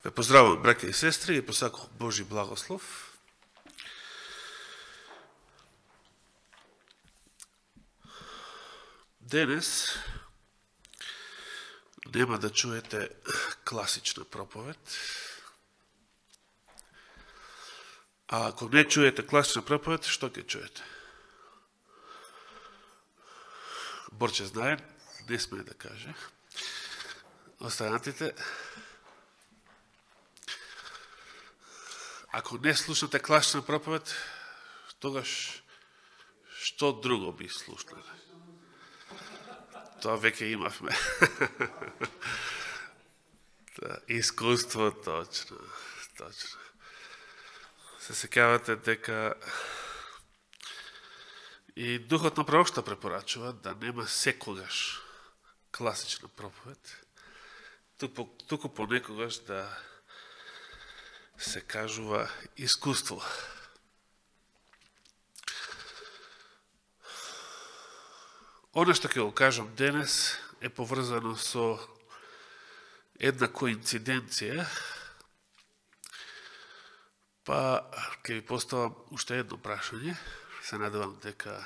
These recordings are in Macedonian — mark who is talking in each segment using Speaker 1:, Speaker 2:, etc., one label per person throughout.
Speaker 1: Ве поздравувам, браќа и сестри, и посакувам Божи благослов. Денес нема да чуете класична проповед. А ако не чуете класична проповед, што ќе чуете? Борче знае, не смее да каже. Останатите, ако не слушате класична проповед, тогаш што друго би слушнале? Тоа веќе имавме. Искуство, точно. Се сеќавате дека и Духот на пророкштво препорачува да нема секогаш класична проповед, туку понекогаш да се кажува искуство. Оно што ќе го кажам денес е поврзано со една коинциденција, па ќе ви поставам уште едно прашање. Се надевам дека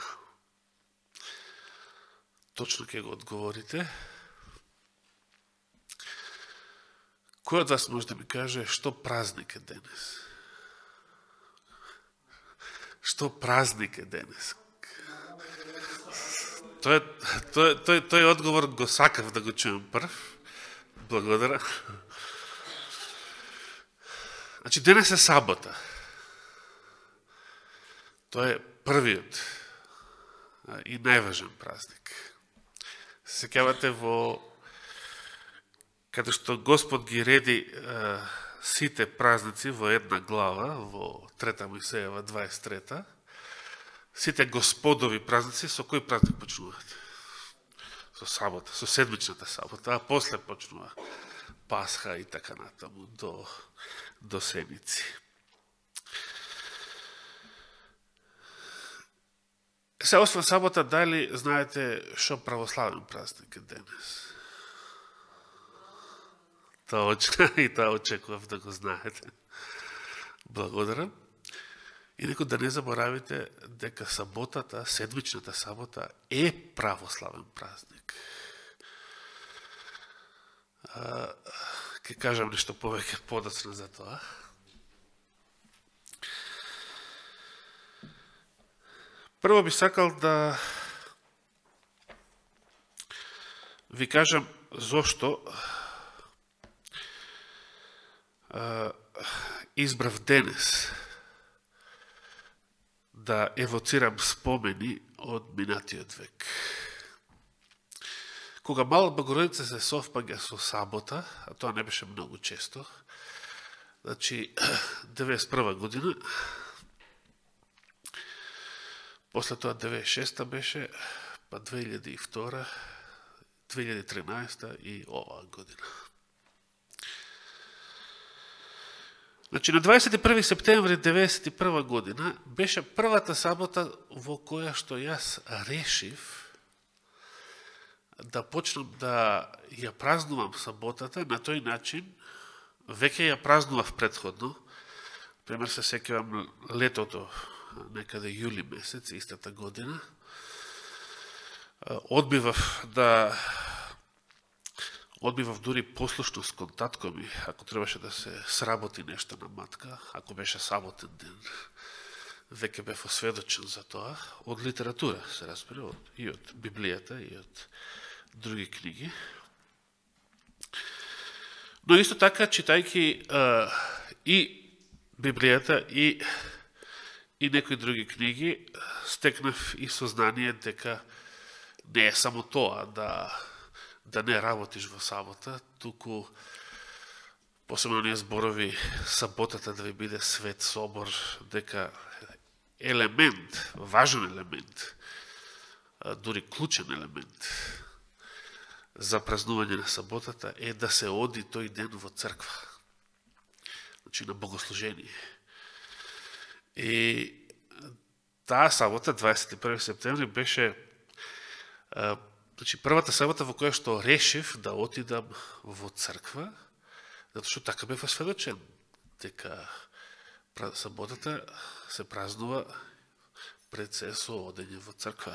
Speaker 1: точно ќе го одговорите. Кој од вас може да ми каже што празник е денес? Што празник е денес? Тој одговор го сакав да го чуем прв. Благодарам. Значи, денес е сабота. Тоа е првиот и најважен празник. Се сеќавате каде што Господ ги реди сите празници во една глава, во 3 Мојсеева 23, сите Господови празници, со кој празник почнуваат? Со сабота, со седмичната сабота, а после почнува Пасха и така натаму до седмици. Се освен сабота, дали знаете што православен празник е денес? Точно, и тоа очекував да го знаете. Благодарам. И некој да не заборавите дека саботата, седмичната сабота е православен празник. Ке кажам нешто повеќе подоцна за тоа. Прво би сакал да ви кажам зошто избрав денес да евоцирам спомени од минатиот век. Кога Мала Богородица се совпаѓа со сабота, а тоа не беше многу често, значи 91 година, после тоа 96 беше, па 2002, 2013 и оваа година. Значи, на 21 септември 1991 година беше првата сабота во која што јас решив да почнам да ја празнувам саботата на тој начин. Веќе ја празнував предходно. Пример, се сеќавам летото, некаде јули месец, истата година. Одбивав дури послушност кон татко ми, ако требаше да се сработи нешто на матка, ако беше саботен ден. Веќе бев осведочен за тоа, од литература, се разбира, и од Библијата, и од други книги. Но исто така, читајќи и Библијата, и некои други книги, стекнав и сознание дека не е само тоа да не работиш во сабота, туку посебно ние зборови саботата да ви биде свет собор, дека елемент, важен елемент, дури клучен елемент за празнување на саботата е да се оди тој ден во црква. Значи на богослужение. И таа сабота, 21 септември, беше првата сабота во која што решив да отидам во црква, Затоа што така бев осведочен, дека саботата се празнува пред се со одење во црква.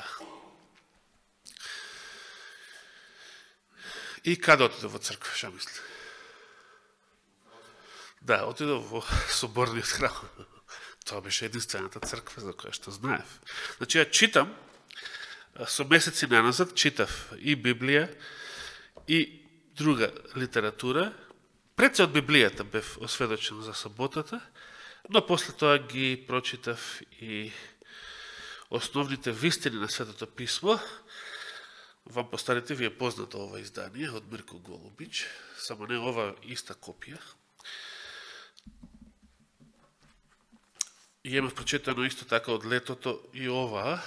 Speaker 1: И каде отидов во црква, ша мисли? Да, отидов во соборниот храм. Тоа беше единствената црква за која што знаев. Значи, ја читам, со месеци наназад читав и Библија, и друга литература. Пред се од Библијата бев осведочен за саботата, но после тоа ги прочитав и основните вистини на Светото Писмо. Вам постарите ви е познато ова издание од Мирко Голубич, само не ова иста копија. И имав прочитано исто така од летото и оваа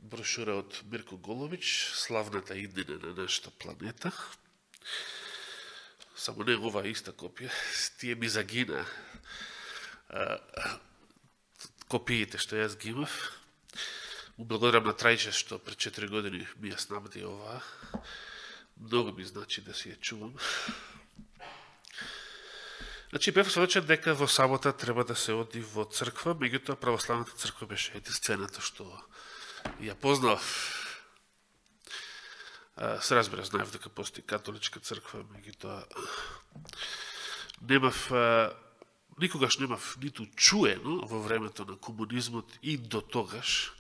Speaker 1: брошура од Мирко Голубич, славната иднина на нашата планета. Само не ова иста копија, тие ми загина копиите што јас ги имав. Благодарам на Трајче што пред 4 години ми ја снабди оваа. Многу ми значи да си ја чувам. Значи, бев осведочен дека во сабота треба да се оди во црква, меѓутоа православната црква беше единствената што ја познав. Се разбира, знаев дека постои католичка црква, меѓутоа никогаш немав ниту чуено во времето на комунизмот и до тогаш,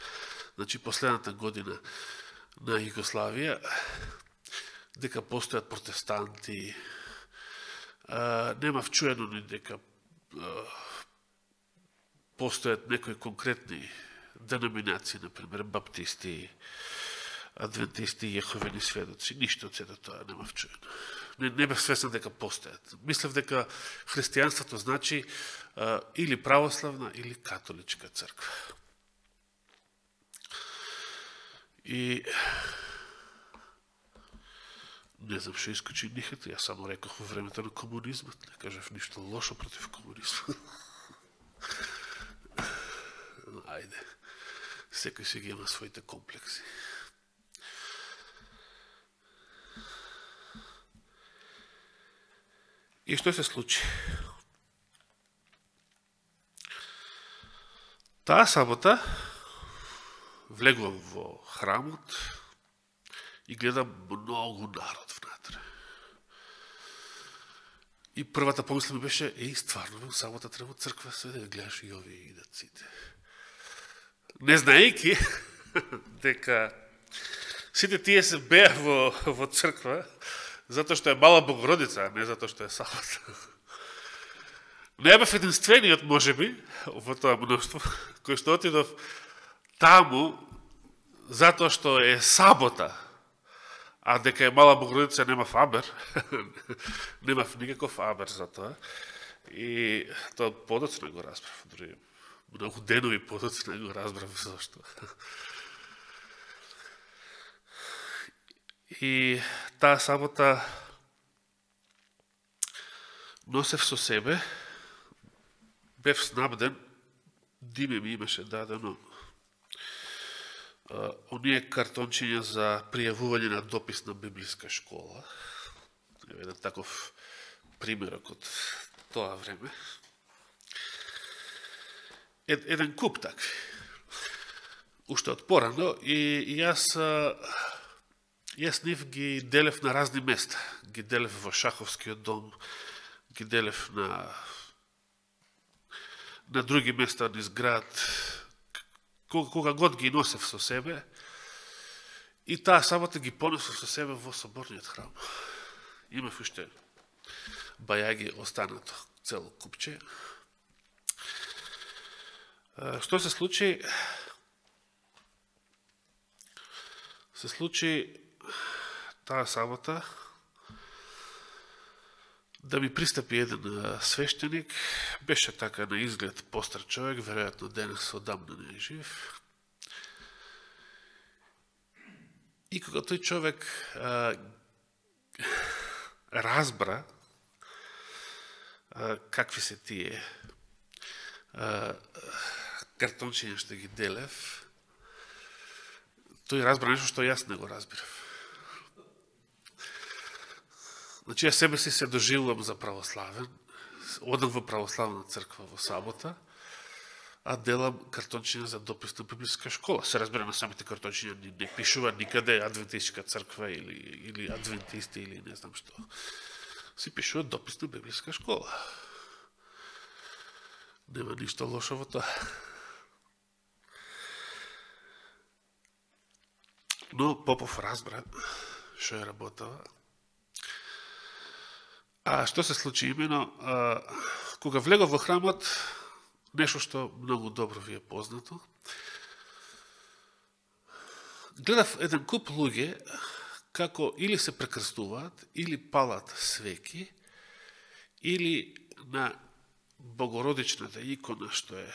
Speaker 1: значи последната година на Југославија, дека постојат протестанти. Немав чуено ни дека постојат некои конкретни деноминации, например, баптисти, адвентисти, јеховени сведоци. Ништо од сето тоа немав чуено. Не бев свесен дека постојат. Мислев дека христијанството значи или православна, или католичка црква. И не знам што искочи нихето, јас само рекох во времето на комунизмот, не кажав ништо лошо против комунизмот. Ајде, секој си ги има своите комплекси. И што се случи? Таа сабота влегувам во храмот и гледам многу народ внатре. И првата помисла ми беше, стварно, во сабота треба црква, се да гледаш и овие идат сите. Не знаејќи дека сите тие се беа во црква, затоа што е Мала Богородица, а не затоа што е сабота. Не бев единствениот, можеби, во тоа мноштво, кој што отидов таму затоа што е сабота, а дека е Мала Богородица немав абер, немав никаков абер за тоа, и тоа подоцна го разбрав, дори многу денови подоцна го разбрав зашто. И таа сабота носев со себе, бев снабден, Диме ми имаше дадено оние картончиња за пријавување на допис на библиска школа. Еден таков примерок од тоа време. Еден куп такви. Уште од порано, и јас нив ги делев на разни места. Ги делев во Шаховскиот дом, ги делев на други места низ град, кога год ги носев со себе, и таа сабота ги понесов со себе во соборниот храм. Имав уште бајаги останато, цело купче. Што се случи? Се случи таа сабота да ми пристапи еден свештеник, беше така на изглед постар човек, веројатно денес одамна не е жив. И кога тој човек разбра какви се тие картончиња што ги делев, тој разбра нешто што јас не го разбирав. Значи, ја себе си се доживувам за православен, одам во православна црква во сабота, а делам картончиња за допис на библиска школа. Се разбира, на самите картончиња не пишува никаде адвентистичка црква или адвентисти или не знам што. Си пишува допис на библиска школа. Нема ништо лошо во тоа. Но Попов разбра што е работава. А што се случи имено? Кога влегов во храмот, нешто што многу добро ви е познато, гледав еден куп луѓе како или се прекрстуваат, или палат свеки, или на Богородичната икона, што е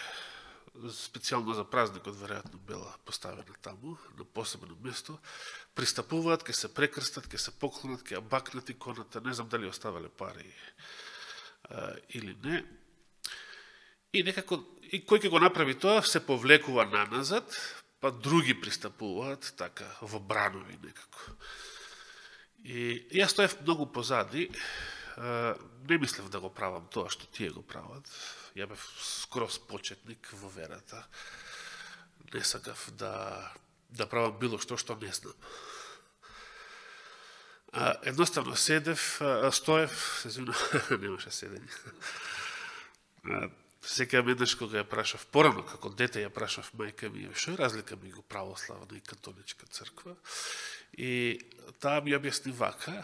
Speaker 1: специјално за празникот, веројатно била поставена таму, на посебно место, пристапуваат, ке се прекрстат, ке се поклонат, ке ја бакнат иконата, не знам дали оставале пари или не. И некако, и кој ќе го направи тоа, се повлекува наназад, па други пристапуваат, така, во бранови некако. И јас стоев многу позади, не мислев да го правам тоа што тие го прават. Ја бев скроз почетник во верата. Не сакав да правам било што не знам. Едноставно стоев, се извинувам, немаше седење. Секоја еднаш кога ја прашав, порано како дете ја прашав мајка ми, што е разлика меѓу православна и католичка црква? И таа ми објасни вака,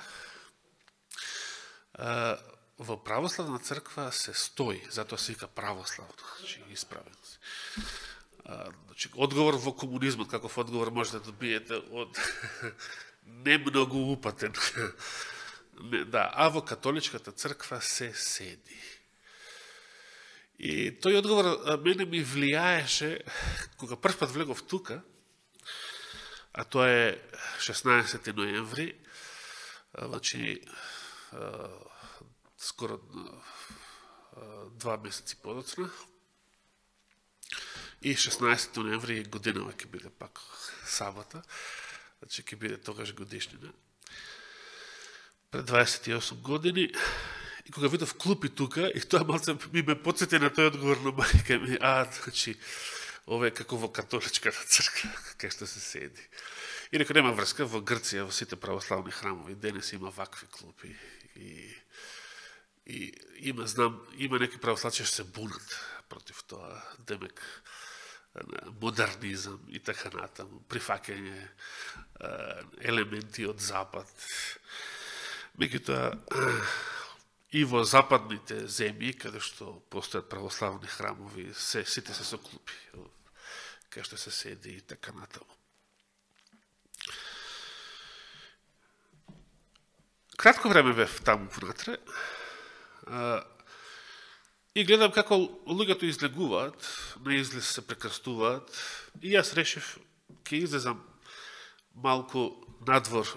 Speaker 1: во православна црква се стои, затоа се вика православна, значи исправен си. Значи, одговор во комунизмот, каков одговор можете да добиете од не многу упатен. Да, а во католичката црква се седи. И тој одговор мене ми влијаеше, кога прв пат влегов тука, а тоа е 16 ноември, значи скоро 2 месеци подоцна, и 16 ноември годинава ќе биде пак сабота, значи ќе биде тогаш годишнина. Пред 28 години, и кога видов клупи тука, и тоа малце ми ме подсети на тој одговор на мајка ми, значи, ова е како во католичката црква, кај што се седи. И рекao, нема врска, во Грција, во сите православни храмови, денес има вакви клупи. И има некои православци што се бунат против тоа, демек модернизам и така натаму, прифаќање елементи од Запад. Меѓутоа, и во западните земји, каде што постојат православни храмови, сите се со клупи, кај што се седи и така натаму. Кратко време бев таму внатре и гледам како луѓето излегуваат, на излез се прекрстуваат, и јас решив ќе излезам малку надвор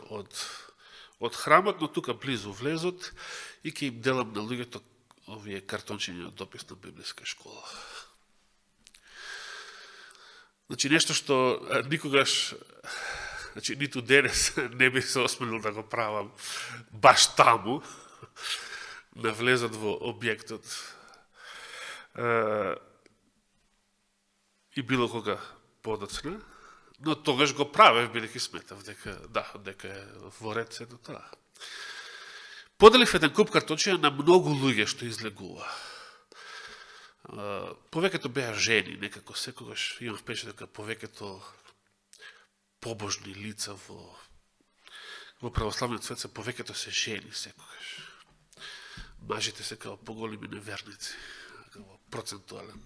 Speaker 1: од храмот, но тука близу влезот, и ќе им делам на луѓето овие картончиња од допис на библиска школа. Значи, нешто што никогаш, значи, ниту денес не би се осмелил да го правам баш таму, на влезот во објектот. И било кога подоцна, но тогаш го правев, бидејќи сметав дека е во ред се до тоа. Поделив еден куп картончиња на многу луѓе што излегува. Повеќето беа жени, некако секогаш имам впечатление дека повеќето побожни лица во православниот свет повеќето се жени секогаш. Мажите се као поголеми неверници, као процентуален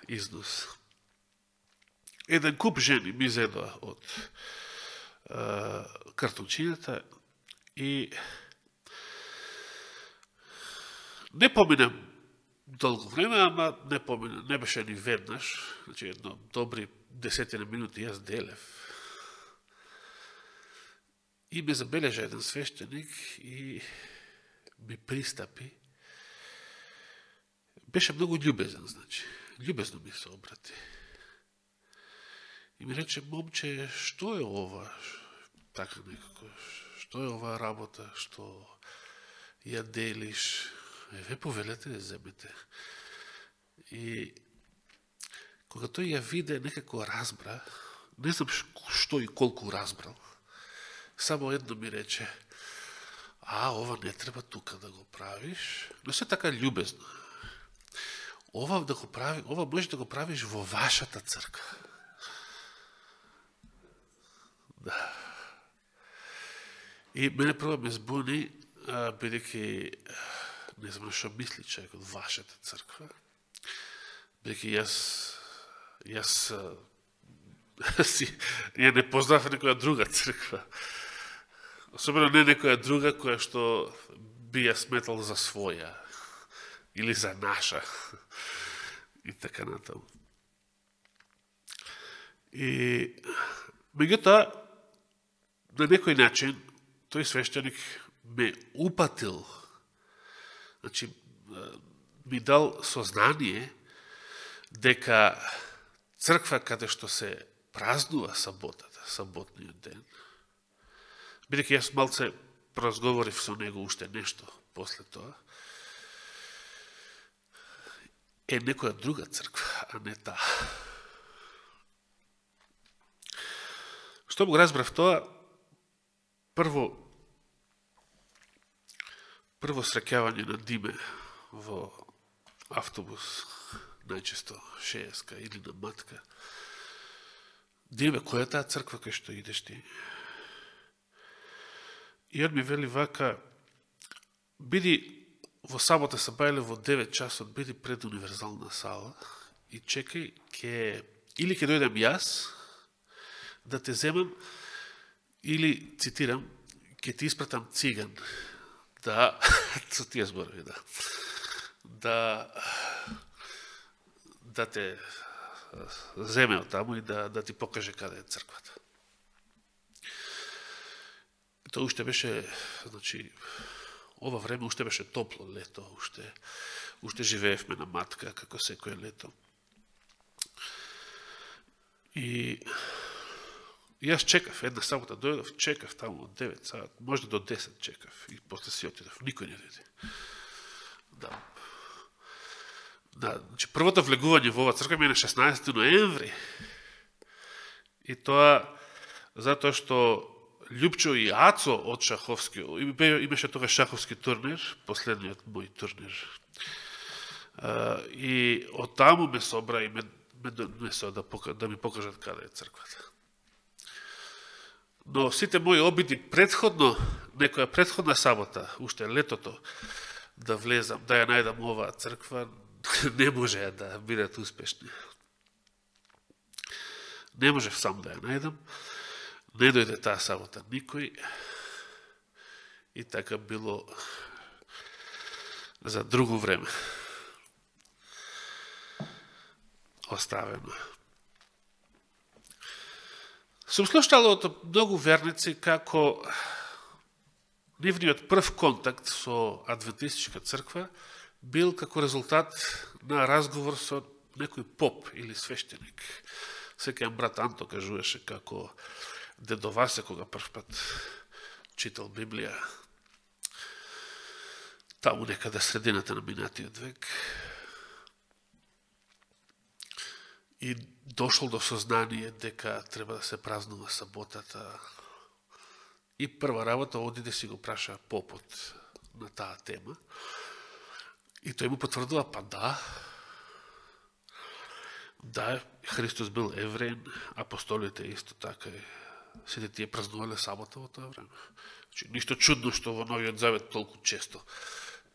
Speaker 1: износ. Еден куп жени ми зедоа од картончињата и не помина долго време, ама не беше ни веднаш, значи едно добри 10 минути јас делев. И ме забележа еден свештеник и ми пристапи. Беше многу љубезен, значи. Љубезно ми се обрати. И ми рече, момче, што е ова? Така некако, што е оваа работа, што ја делиш, ве повелете да земете. И кога тој ја виде, некако разбра, не знам што и колку разбрал, само едно ми рече, ова не треба тука да го правиш, но се така љубезно. Ова можеш да го правиш во вашата црква. Да. И мене прво ме збуни, бидејќи не знам што мисли човек од вашата црква, бидејќи јас ја не познав некоја друга црква. Особено не некоја друга која што би ја сметал за своја или за наша и така натаму. И меѓутоа на некој начин тој свештеник ме упатил, значи ми дал сознание дека црква каде што се празнува саботата, саботниот ден, бидејќи јас малце поразговорив со него уште нешто после тоа, е некоја друга црква, а не таа. Што го разбрав тоа? Прво среќавање на Диме во автобус, најчесто 60-ка или на матка. Диме, која е таа црква кај што идеш ти? И он ми вели вака, биди во сабота се бајле во 9 часот, биди пред универзална сала и чекај, или ќе дојдем јас да те земам, или, цитирам, ќе ти испратам циган, да, со тие зборови, да те земе од таму и да ти покаже каде е црквата. Тоа уште беше, значи, ова време уште беше топло лето, уште живеевме на матка, како секој лето. И јас чекав, една сабота дојдов, чекав таму од 9 саат, може до 10 чекав и после си отидов, никој не дојде. Да, значи првото влегување во оваа црква ми е на 16 ноември. И тоа затоа што Љупчо и Ацо од Шаховски, имаше тогаш шаховски турнир, последниот мој турнир. И од таму ме собра и ме донесоа да ми покажат каде е црквата. Но сите мои обиди предходно, некоја предходна сабота, уште летото, да влезам, да ја најдам оваа црква, не можеа да бидат успешни. Не можев сам да ја најдам. Не дојде таа сабота никој и така било за друго време оставено. Сум слушал од многу верници како нивниот прв контакт со адвентистичка црква бил како резултат на разговор со некој поп или свештеник. Секој брат Анто кажуваше како дедо Васе, кога прв пат читал Библија, таму некаде средината на минатиот век, и дошол до сознание дека треба да се празнува саботата. И прва работа оди да си го праша попот на таа тема. И тој му потврдува, па да, Христос бил евреин, апостолите исто така и сите тие празнувале сабота во тоа време. Значи, ништо чудно што во Новиот Завет толку често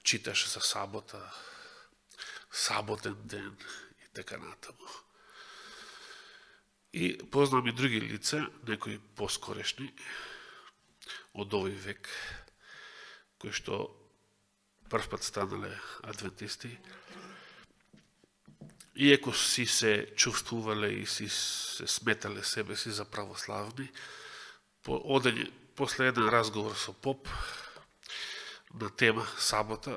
Speaker 1: читаше за сабота, саботен ден и така натаму. И познам и други лица, некои поскорешни од овој век, кои што првпат станале адвентисти, иако си се чувствувале и си се сметале себе си за православни, после еден разговор со поп на тема сабота,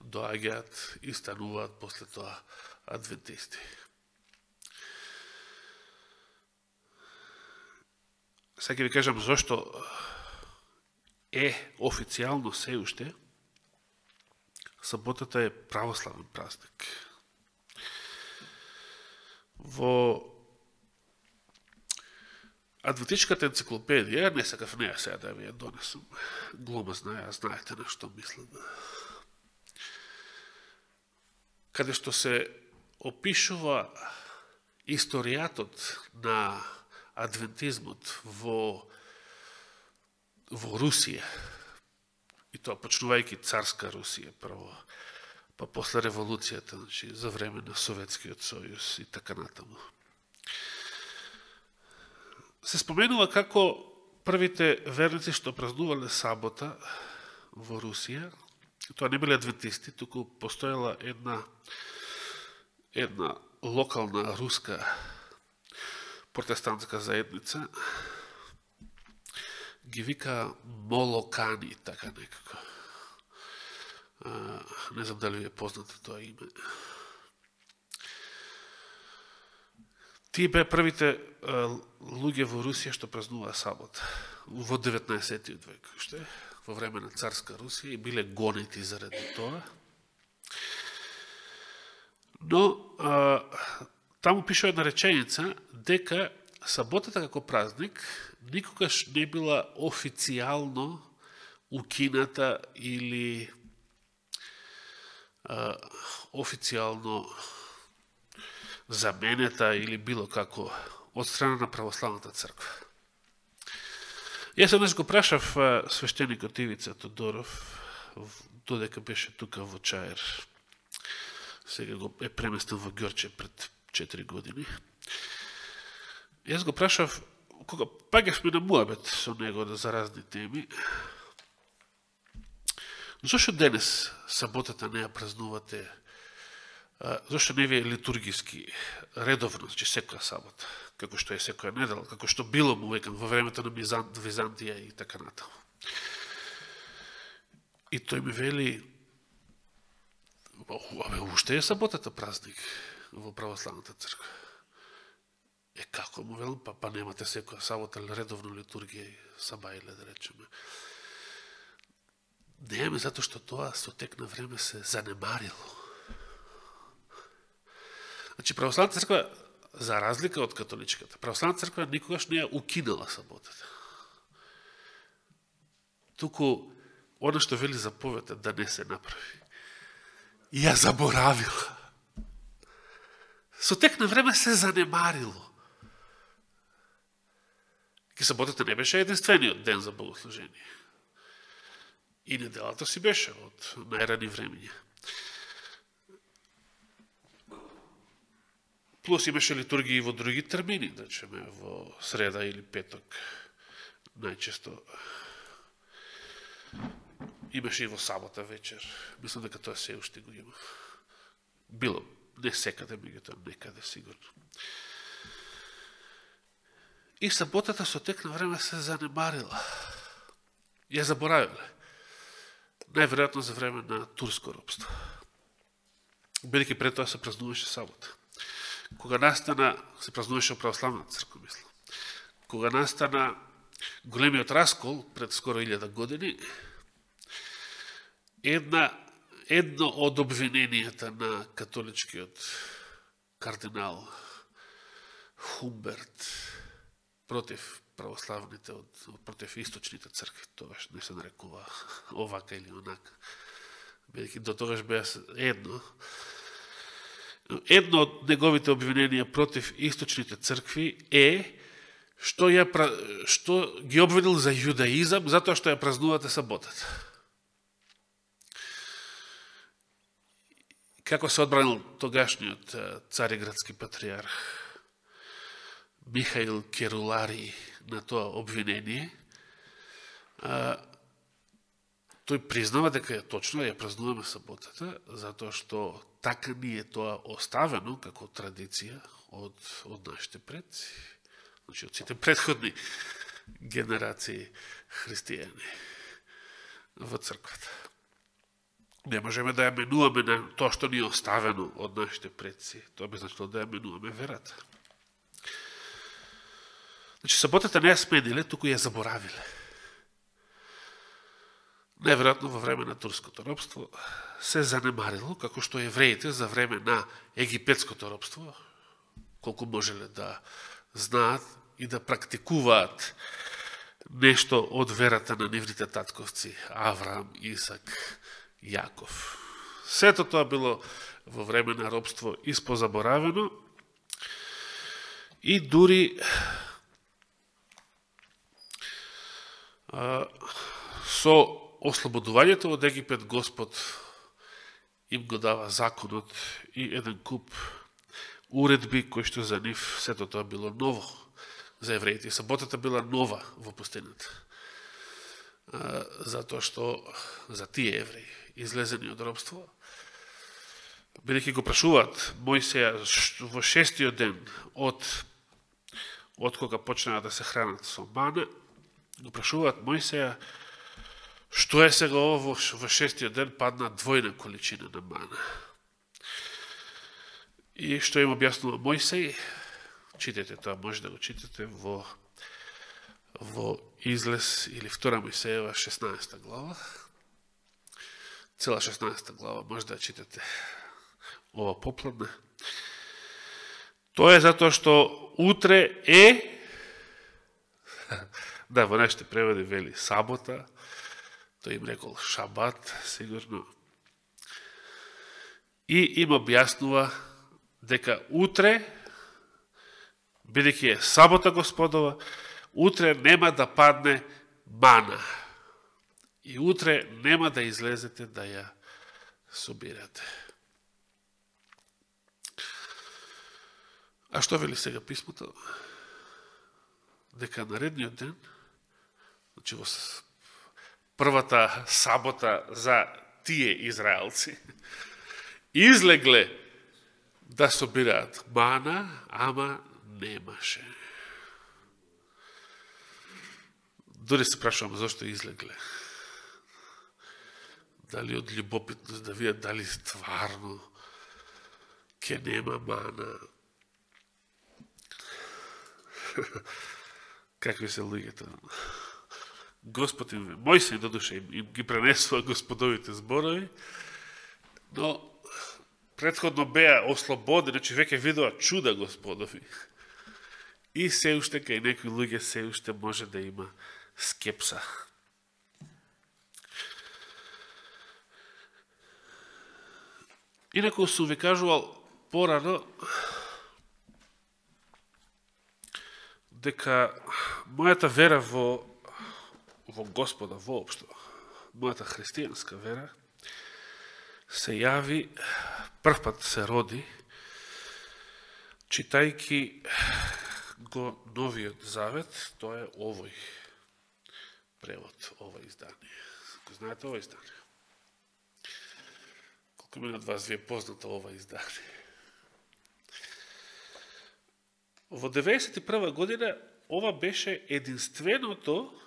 Speaker 1: доаѓаат и стануваат после тоа адвентисти. Сега ќе ви кажам зошто официјално се уште, саботата е православен празник. Во Адвентичката енциклопедија, не сакав неја сега да ви ја донесам, глумазна ја, знаете на што мислам, каде што се опишува историјатот на адвентизмот во Русија, и тоа почнувајќи царска Русија прво, па после револуцијата, значи, за време на Советскиот сојуз и така натаму. Се споменува како првите верници што празнувале сабота во Русија, тоа не биле адвентисти, туку постоела една локална руска протестантска заедница, ги вика молокани, така некако. Не знам дали ви е познато тоа име. Тие беа првите луѓе во Русија што празнуваа сабота во 19. век, уште во време на царска Русија, и биле гонети заради тоа. Но таму пишува една реченица дека саботата како празник никогаш не била официјално укината или официјално заменета или било како од страна на православната црква. Јас еднаш го прашав свештеникот Ивица Тодоров, додека беше тука во Чаер, сега го е преместен во Ѓорче пред 4 години. Јас го прашав, кога паѓавме на муабет со него за разни теми, зашто денес саботата не ја празнувате, зашто не ви е литургиски, редовно, значи секоја сабота, како што е секоја недела, како што било му векам во времето на Византија и така натаму. И тој ми вели, уште е саботата празник во православната црква. Како му велам, па немате секоја сабота редовно литургија и сабајле, да речеме. Немаме, затоа што тоа со тек на време се занемарило. Значи, православната црква, за разлика од католичката, православната црква никогаш не ја укинала саботата. Туку, она што вели заповедта да не се направи, ја заборавила. Со тек на време се занемарило. Ке саботата не беше единствениот ден за богослужение. И неделата си беше од најрани времења. Плюс имаше литургии во други термини, да речеме во среда или петок. Најчесто имаше и во сабота вечер. Мислам дека тоа се уште го има. Било не секаде, меѓутоа некаде сигурно. И саботата со тек на време се занемарила. Ја заборавиле. Најверојатно за време на турско робство. Бидејќи пред тоа се празнуваше сабота. Кога настана, се празнуваше православната црква, мислам. Кога настана големиот раскол пред скоро 1000 години, едно од обвиненијата на католичкиот кардинал Хумберт против православните, против источните цркви, тогаш не се нарекува овака или онака. Бидејќи до тогаш беа едно од неговите обвиненија против источните цркви е што ги обвинил за јудаизам затоа што ја празнувате саботата. Како се одбранил тогашниот цариградски патриарх Михаил Керулари на тоа обвинение, тој признава дека точно ја празнуваме саботата, затоа што така ни е тоа оставено како традиција од нашите предци, значи од сите претходни генерации христијани во црквата. Не можеме да ја менуваме на тоа што ни е оставено од нашите предци, тоа би значило да ја менуваме верата. Значи, саботата не ја смениле, туку ја заборавиле. Неверојатно во време на турското робство се занемарило, како што евреите за време на египетското робство, колку можеле да знаат и да практикуваат нешто од верата на нивните татковци Авраам, Исак, Јаков. Сето тоа било во време на робство испозаборавено и дури со ослободувањето од Египет Господ им го дава законот и еден куп уредби кои што за нив сето тоа било ново за евреите. Саботата била нова во пустината. Затоа што за тие евреи излезени од робство, бидејќи го прашуваат Мојсеја во 6-тиот ден од кога почнаа да се хранат со мана, го прашуваат Мојсеја што е сега ово во 6-тиот ден падна двојна количина на мана. И што им објаснува Мојсеј, читате тоа, може да го читате во Излез или 2 Мојсеева 16 глава. Цела 16 глава може да читате ова попладне. Тоа е затоа што утре е, да, во нашите преводи вели сабота, тој им рекол шабат, сигурно. И им објаснува дека утре, бидејќи е сабота Господова, утре нема да падне мана. И утре нема да излезете да ја собирате. А што вели сега писмото? Дека наредниот ден, значи во првата сабота за тие израелци, излегле да собираат мана, ама немаше. Дори се прашувам зашто излегле. Дали од љубопитност да видат дали стварно ке нема мана. Какви се луѓето. Господ им, Мојсеј додуше им ги пренесува Господовите зборови, но претходно беа ослободени, значи веќе видува чуда Господови. И се уште кај некои луѓе се уште може да има скепса. Инаку сум ви кажувал порано дека мојата вера во Господа воопшто, мојата христијанска вера, се јави, првпат се роди, читајки го Новиот Завет, тоа е овој превод, ова издание. Го знаете ова издание? Колку мене од вас ви е познато ова издание? Во 1991 година ова беше единственото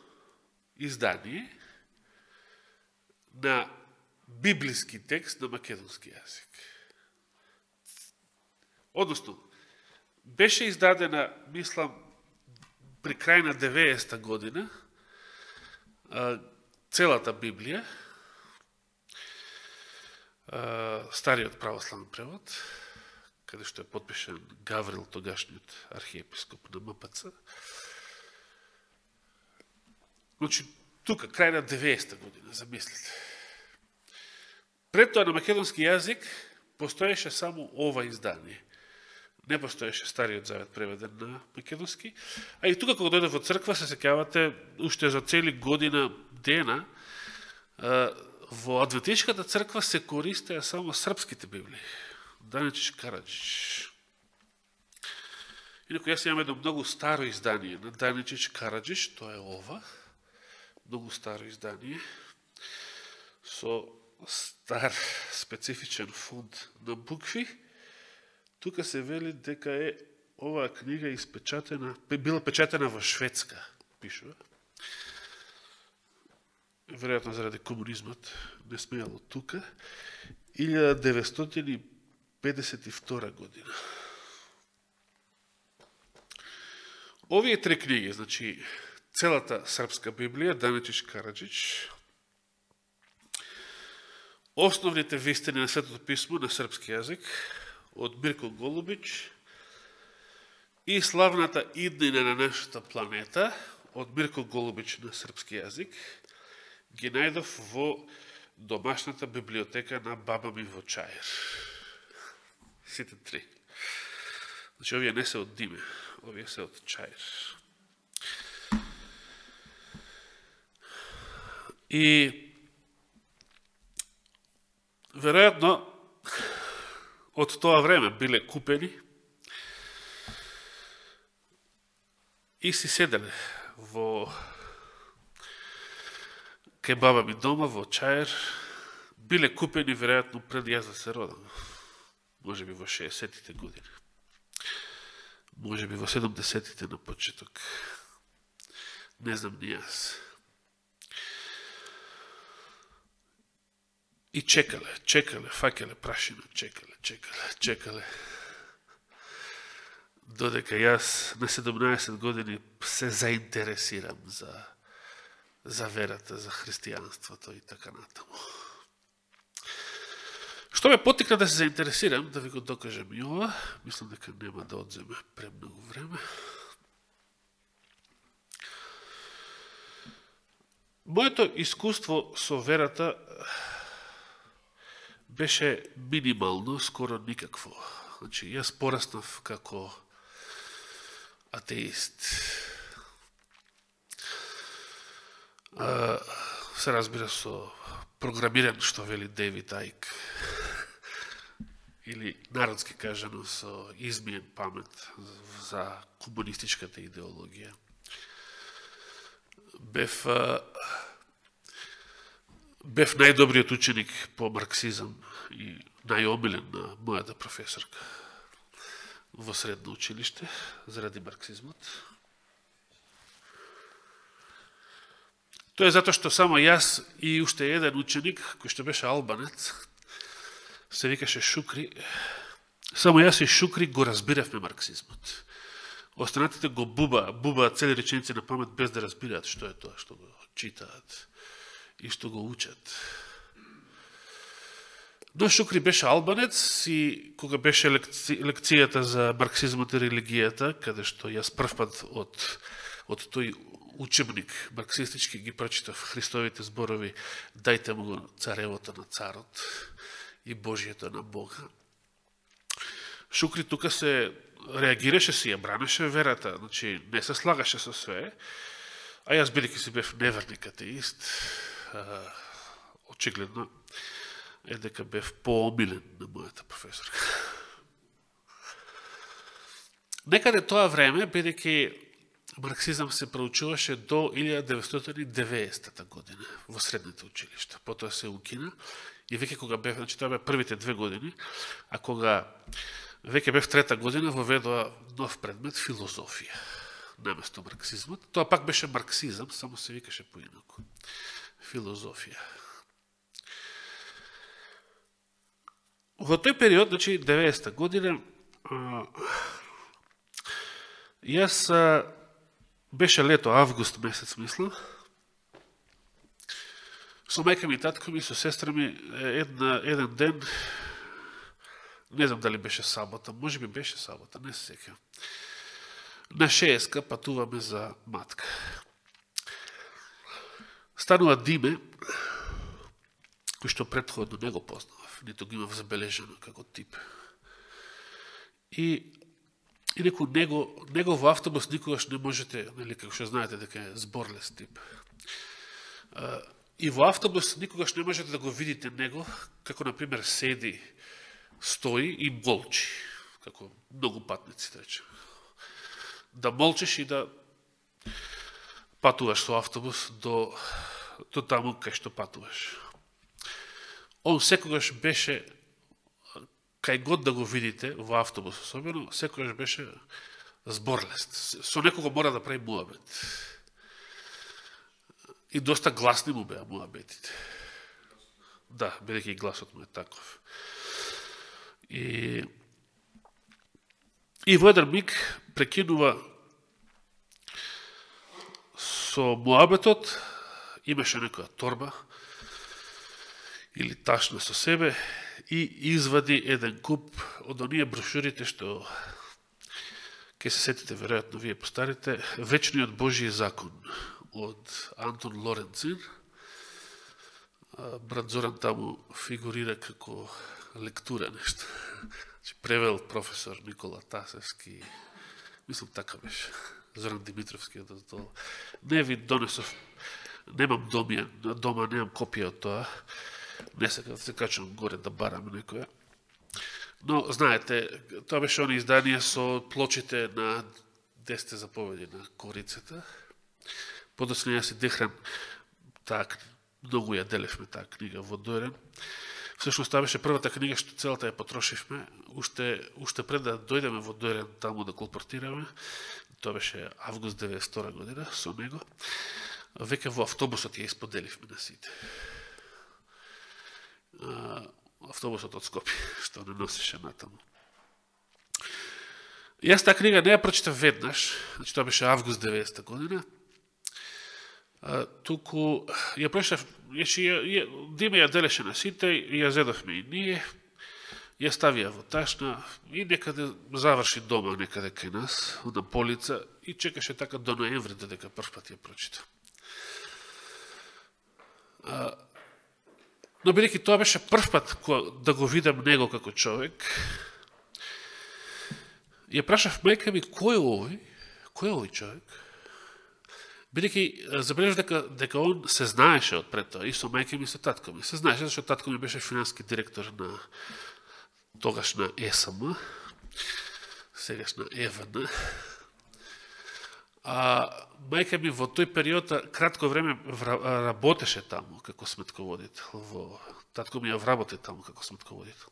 Speaker 1: издание на библиски текст на македонски јазик. Односно, беше издадена, мислам, при крај на 90-та година, целата Библија, стариот православен превод, каде што е подпишен Гаврил, тогашниот архиепископ на МПЦ. Значи, тука, крај на 90-та година, замислите. Пред тоа на македонски јазик постоеше само ова издание. Не постоеше Стариот Завет преведен на македонски. А и тука, кога дојде во црква, се сеќавате, уште за цели година дена, во Адвентишката црква се користеа само српските библии. Даничич Караджич. Инако јас имам едно многу старо издание на Даничич Караджич, тоа е ова, многу старо издание, со стар специфичен фонд на букви. Тука се вели дека е оваа книга испечатена, била печатена во Шведска, пишува. Веројатно заради комунизмот не смејало тука. 1952 година. Овие три книги, значи целата српска Библија, Даничич Караджич, Основните вистини на Светото писмо на српски јазик од Мирко Голубич и Славната иднина на нашата планета од Мирко Голубич на српски јазик ги најдов во домашната библиотека на баба ми во Чаир. Сите три. Значи, овие не се од Диме, овие се од Чаир. И веројатно од тоа време биле купени и си седеле во кај баба ми дома во Чаир, биле купени веројатно пред јас да се родам. Може би во 60-тите години. Може би во 70-тите на почеток. Не знам ни јас. И чекале, факеле прашина, чекале. Додека јас на 17 години се заинтересирам за верата, за христијанството и така натаму. Што ме потикна да се заинтересирам, да ви го докажам и ова, мислам дека нема да одземе премногу време. Моето искуство со верата беше минимално, скоро никакво. Значи, јас пораснав како атеист. Се разбира со програмиран, што вели Дейвид Айк, или народски кажано со измиен памет за комунистичката идеологија. Бев најдобриот ученик по марксизам и најомилен на мојата професорка во средно училиште заради марксизмот. Тоа е затоа што само јас и уште еден ученик, кој што беше албанец, се викаше Шукри, само јас и Шукри го разбиравме марксизмот. Останатите го бубаат цели реченици на памет без да разбираат што е тоа што го читаат и што го учат. Но Шукри беше албанец и кога беше лекцијата за марксизмот и религијата, каде што јас првпат од тој учебник марксистички ги прочитав Христовите зборови "Дајте му го царевото на царот и Божието на Бога". Шукри тука се реагираше, си ја бранеше верата, значи не се слагаше со све, а јас бидејќи си бев неверник атеист, очигледно е дека бев поомилен на мојата професорка. Некаде тоа време, бидејќи марксизам се проучуваше до 1990 година во средните училишта. Потоа се укина и веќе кога бев, значи тоа бе првите 2 години, а кога веќе бев 3-та година воведоа нов предмет филозофија наместо марксизмот. Тоа пак беше марксизам, само се викаше поинаку. Филозофија. Во тој период, значи 90-та година, јас беше лето, август месец, мислам, со мајка ми и татко ми, со сестра ми, еден ден, не знам дали беше сабота, може би беше сабота, не се сеќавам. На Шееска патуваме за матка. Станува Диме, кој што претходно не го познавав, нито го имав забележено како тип. И него во автобус никогаш не можете, нели, како што знаете дека е зборлес тип. И во автобус никогаш не можете да го видите него, како, например, седи, стои и молчи, како многу патници, рече. Да молчиш и да патуваш со автобус до таму кај што патуваш. Он секогаш беше, кај год да го видите во автобус особено, секогаш беше зборлест. Со некого мора да прави муабет. И доста гласни му беа муабетите. Да, бидејќи и гласот му е таков. И во еден миг прекинува со муабетот, имаше некоја торба, или ташна со себе и извади еден куп од оние брошурите што ќе се сетите веројатно вие постарите, Вечниот Божји закон од Антон Лоренцин. Брат Зоран таму фигурира како лектура нешто. Превел професор Никола Тасевски, мислам така беше, Зоран Димитровски. Не ви донесов, немам дома, немам копија од тоа, не сега се качувам горе да барам некоја. Но, знаете, тоа беше они изданија со плочите на 10 заповеди на корицата. Подоцна ја се дехрам таа, многу ја делевме таа книга во Дојрен. Всушност, таа беше првата книга што целата ја потрошивме, уште пред да дојдеме во Дојрен таму да колпортираме. Тоа беше август 92 година со него. Веќе во автобусот ја исподеливме на сите. Автобусот од Скопје, што не носеше натаму. Јас таа книга не ја прочитав веднаш, значи тоа беше август 90 година. Туку ја прочитав, Диме ја делеше на сите, ја зедовме и ние, ја ставија во ташна и некаде заврши дома, некаде кај нас, на полица, и чекаше така до ноември додека прв пат ја прочитав. Но бидејќи тоа беше прв пат да го видам него како човек, ја прашав мајка ми кој е овој човек? Бидејќи забележав дека он се знаеше од пред тоа, и со мајка ми, со татко ми. Се знаеше, зашто татко ми беше финански директор на тогашна ЕСМ, сегашна ЕВН. Мајка ми во тој период кратко време работеше таму како сметководител. Татко ми ја вработи таму како сметководител.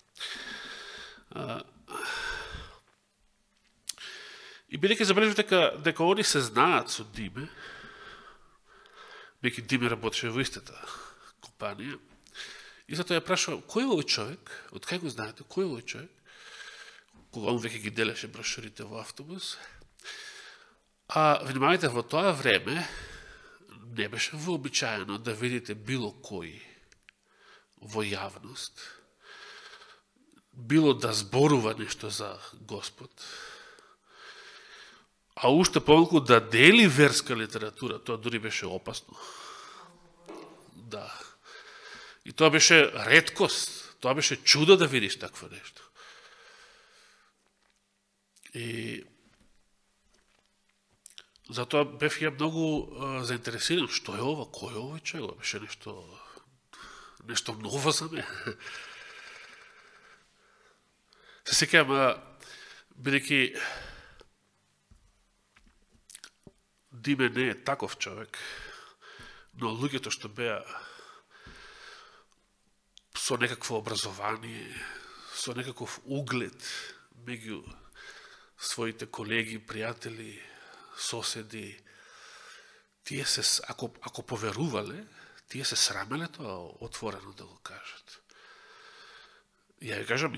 Speaker 1: И бидејќи забележав дека они се знаат со Диме, бидејќи Диме работеше во истата компанија, и затоа ја прашувам, кој е овој човек? Од кај го знаете? Кој е овој човек? Кога он веќе ги делеше брошурите во автобус. Внимавајте, во тоа време не беше вообичаено да видите било кој во јавност, било да зборува нешто за Господ, а уште помалку да дели верска литература, тоа дури беше опасно. Да. И тоа беше реткост, тоа беше чудо да видиш такво нешто. И затоа бев ја многу заинтересиран, што е ова, кој е овој човек, беше нешто ново за мене. Се сеќавам, бидејќи Диме не е таков човек, но луѓето што беа со некакво образование, со некаков углед меѓу своите колеги, пријатели, соседи, тие се, ако поверувале, тие се срамеле тоа отворено да го кажат. Ја ви кажам,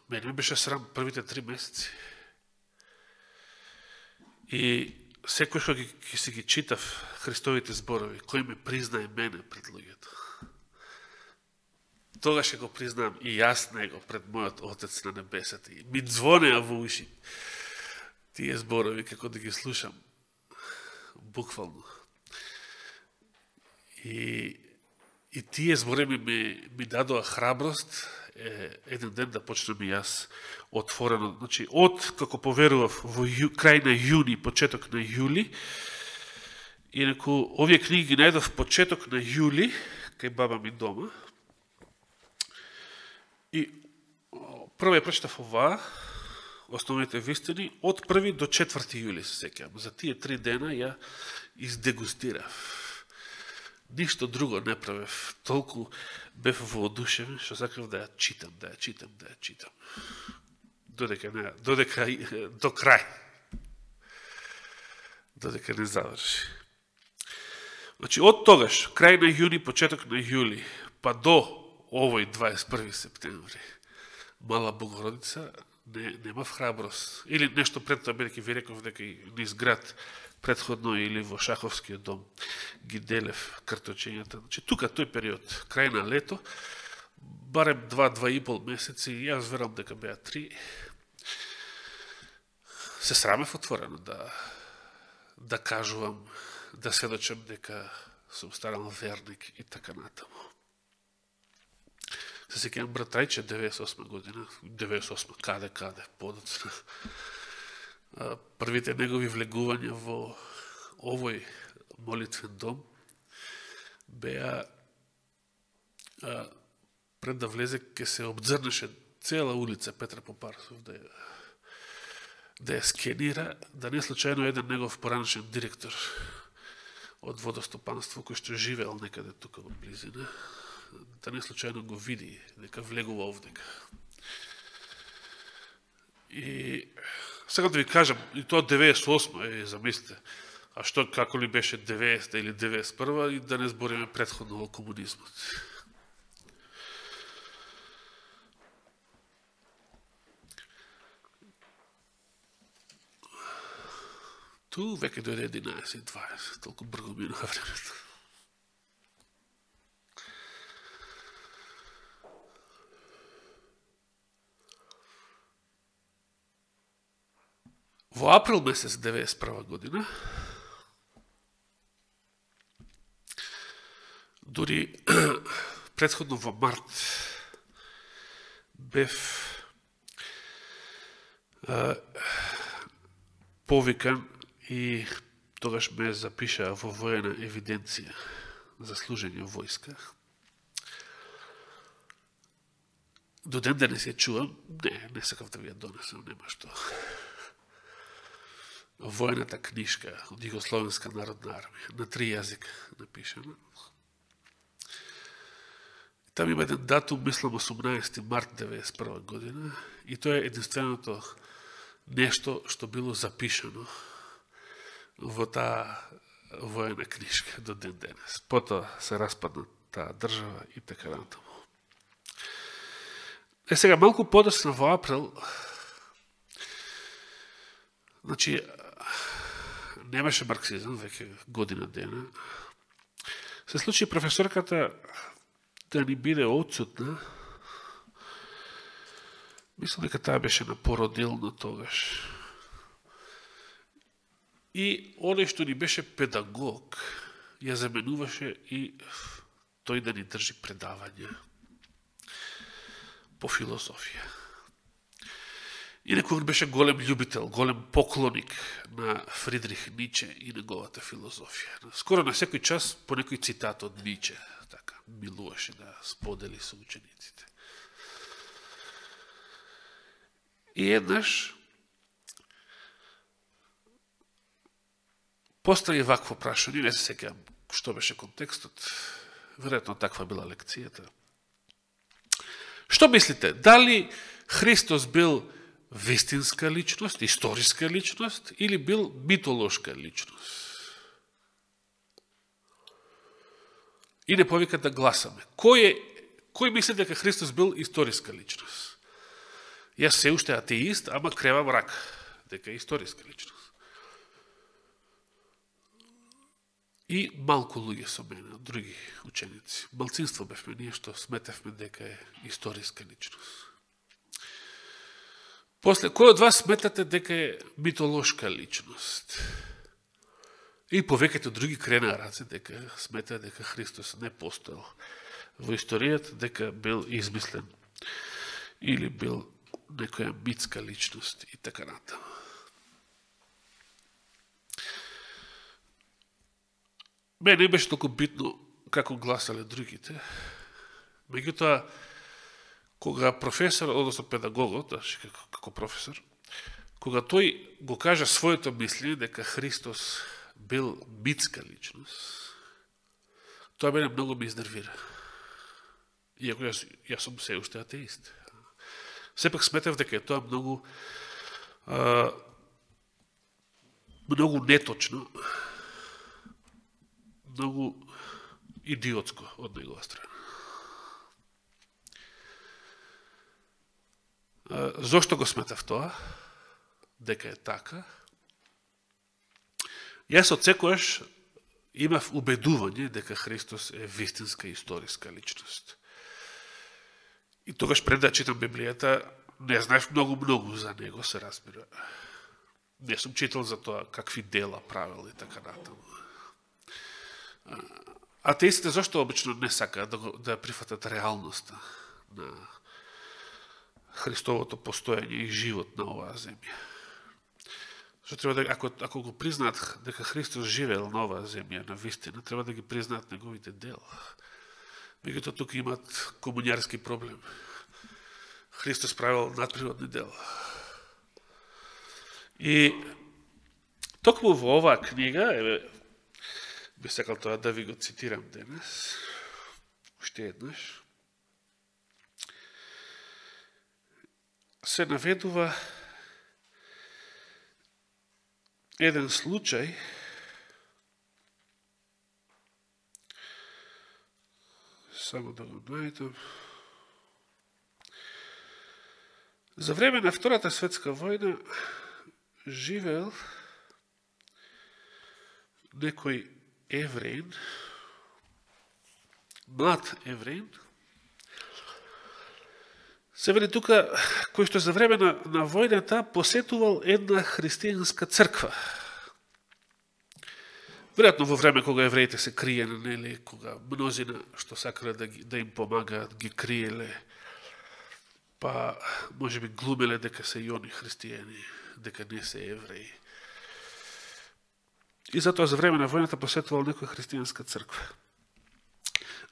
Speaker 1: мене ми беше срам првите 3 месеци. И секој што ќе си ги читав Христовите зборови, кој ме признае мене пред луѓето, тогаш ќе го признам и јас него пред мојот Отец на небесата. И ми звонеа во уши тие зборови, како да ги слушам, буквално. И тие зборови ми дадоа храброст еден ден да почнем и јас отворено. Значи, како поверував во крај на јуни, почеток на јули, инаку овие книги ги најдов почеток на јули, кај баба ми дома. И прво ја прочитав оваа, Основните вистини, од 1 до 4 јули се сеќавам. За тие 3 дена ја издегустирав. Ништо друго не правев. Толку бев воодушевен, што сакав да ја читам. Додека до крај. Додека не заврши. Значи, од тогаш, крај на јуни, почеток на јули, па до овој 21 септември, Мала Богородица, немав храброст. Или нешто пред тоа, бидејќи ви реков дека и низ град предходно или во Шаховскиот дом ги делев карточењата. Значи, тука тој период, крај на лето, барем 2-2,5 месеци, јас верам дека беа 3, се срамев отворено да кажувам, да сведочам дека сум станал верник и така натаму. Се сеќавам братрајче 98 година, 98 каде, подоцна. Првите негови влегувања во овој молитвен дом беа пред да влезе ке се обдзрнеше цела улица Петра Попарсов да ја скенира, да не случајно еден негов поранешен директор од водостопанство кој што живеел некаде тука во близина, да не случајно го види дека влегува овдека. И сега да ви кажам, и тоа 98, замислите, а што како ли беше 90 или 91 и да не збориме претходно во комунизмот. Ту веќе дојде 11-20, толку брзо минува времето. Во април месец 91 година, дури претходно во март, бев повикан и тогаш ме запишаа во воена евиденција за служење во војска. До ден денес ја чувам, не сакав да ви ја донесам, нема што. Војната книжка од Југословенска народна армија, на 3 јазика напишана. Там има еден датум, мислам 18 март 1991 година, и тоа е единственото нешто што било запишано во таа воена книжка до ден денес. Потоа се распадна таа држава и така натаму. Сега, малку подоцна во април, значи, немаше марксизам, веќе година дена, се случи професорката да ни биде отсутна. Мислам дека таа беше на породилно тогаш. И оној што ни беше педагог, ја заменуваше и тој да ни држи предавања по филозофија. Инаку он беше голем љубител, голем поклоник на Фридрих Ниче и неговата филозофија. Скоро на секој час по некој цитат од Ниче, така, милуваше да сподели со учениците. И еднаш постави вакво прашање, не се сеќавам што беше контекстот, веројатно таква била лекцијата. Што мислите, дали Христос бил вистинска личност, историска личност или бил митолошка личност? И не повика да гласаме. Кој мисли дека Христос бил историска личност? Јас се уште атеист, ама кревам рака дека е историска личност. И малку луѓе со мене, од други ученици. Малцинство бевме ние што сметевме дека е историска личност. После, кој од вас сметате дека е митолошка личност? И повеќето други кренаа раце дека сметаа дека Христос не постоел во историјата, дека бил измислен или бил некоја митска личност и така натаму. Мене не беше толку битно како гласале другите. Меѓутоа, кога професор, односно педагогот, како професор, кога тој го кажа своето мислење дека Христос бил митска личност, тоа мене многу ме изнервира. Иако јас сум се уште атеист. Сепак сметав дека е тоа многу неточно, многу идиотско од негова страна. Зошто го сметав тоа? Дека е така? Јас од секојаш имав убедување дека Христос е вистинска историска личност. тогаш пред да читам Библијата, не знаев многу за него, се разбира. Не сум читал за тоа какви дела правил и така натаму. Атеистите зашто обично не сакаат да прифатат реалноста на Христовото постојање и живот на оваа земја? Што треба да, ако го признаат дека Христос живеел на оваа земја, на вистина, треба да ги признаат неговите дела. Меѓутоа тука имат комуњарски проблем. Христос правил надприродни дела. И токму во оваа книга, би сакал тоа да ви го цитирам денес, уште еднаш, се наведува еден случај само да го најдам. За време на Втората светска војна живеел некој евреин, млад евреин, се вели тука, кој што за време на војната посетувал една христијанска црква. Веројатно во време кога евреите се криеле, нели, кога мнозина што сакале да им помагаат, ги криеле, па можеби глумеле дека се и они христијани, дека не се евреи. И затоа за време на војната посетувал некоја христијанска црква.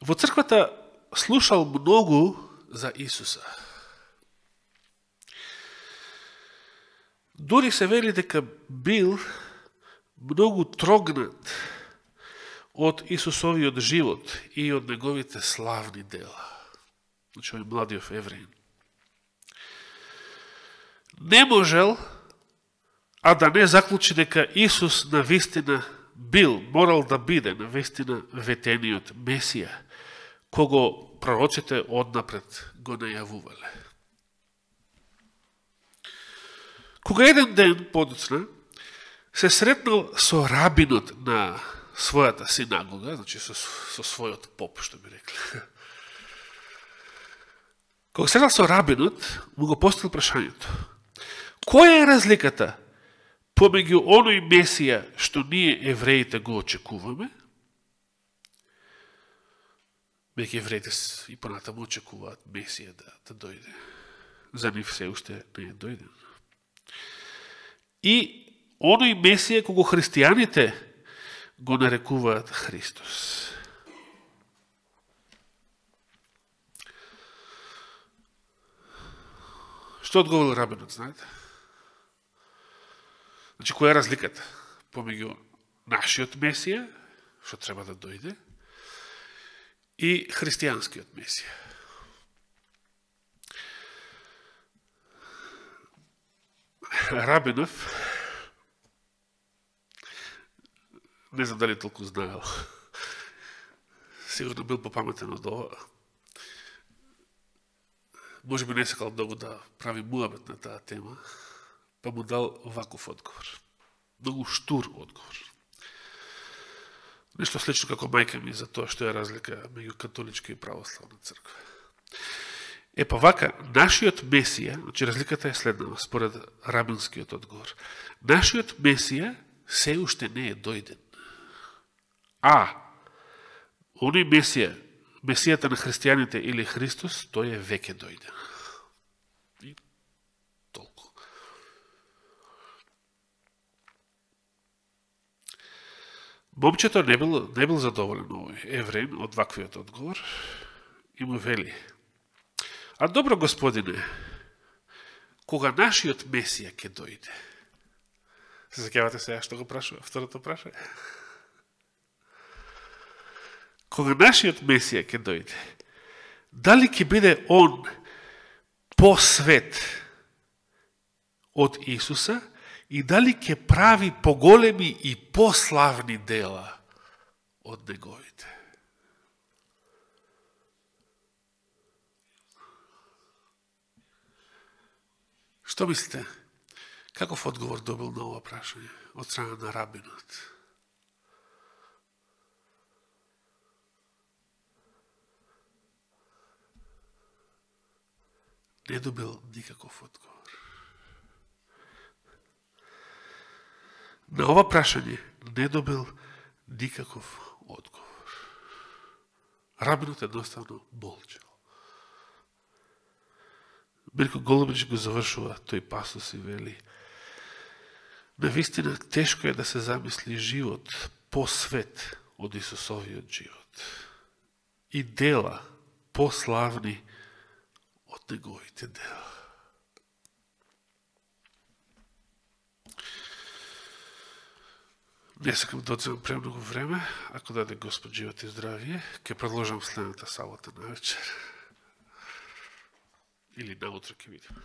Speaker 1: Во црквата слушал многу за Исуса. Дури се вели дека бил многу трогнат од Исусовиот живот и од неговите славни дела. Значи, овој младиот евреин. Не можел, а да не заклучи дека Исус на вистина бил, морал да биде на вистина ветениот Месија, кого пророците однапред го најавувале. Кога еден ден подоцна се сретнал со рабинот на својата синагога, значи со својот поп, што би рекли. Кога сретнал со рабинот, му го поставил прашањето: која е разликата помеѓу оној Месија што ние евреите го очекуваме? Меѓу евреите и понатаму очекуваат Месија да дојде. За нив се уште не е дојден. И оној Месија кого христијаните го нарекуваат Христос. Што одговорил рабинот, знаете? Значи, која е разликата помеѓу нашиот Месија, што треба да дојде, и христијанскиот Месија? Рабинов, не знам дали толку знаел, сигурно бил попаметен од ова, може би не сакал многу да прави муабет на таа тема, па му дал ваков одговор. Многу штур одговор. Нешто слично како мајка ми за тоа што е разлика меѓу католичка и православна црква. Па вака, нашиот Месија, значи разликата е следнава, според рабинскиот одговор. Нашиот Месија се уште не е дојден. А оној Месија, Месијата на христијаните или Христос, тој е веќе дојден. И толку. Момчето не бил задоволен овој евреин од ваквиот одговор и му вели: а добро, господине, кога нашиот Месија ќе дојде? Се сеќавате сега што го прашува, второто прашање? Кога нашиот Месија ќе дојде, дали ќе биде он посвет од Исуса и дали ќе прави поголеми и пославни дела од неговите? Што мислите? Каков одговор добил на ова прашање од страна на рабинот? не добил никаков одговор. На ова прашање не добил никаков одговор. Рабинот едноставно молчал. Мирко Голубич го завршува тој пасос и вели: навистина тешко е да се замисли живот посвет од Исусовиот живот и дела пославни од неговите дела. Не сакам да одземам премногу време, ако даде Господ живот и здравие, ќе продолжам следната сабота на вечер. Или наутро ќе видим.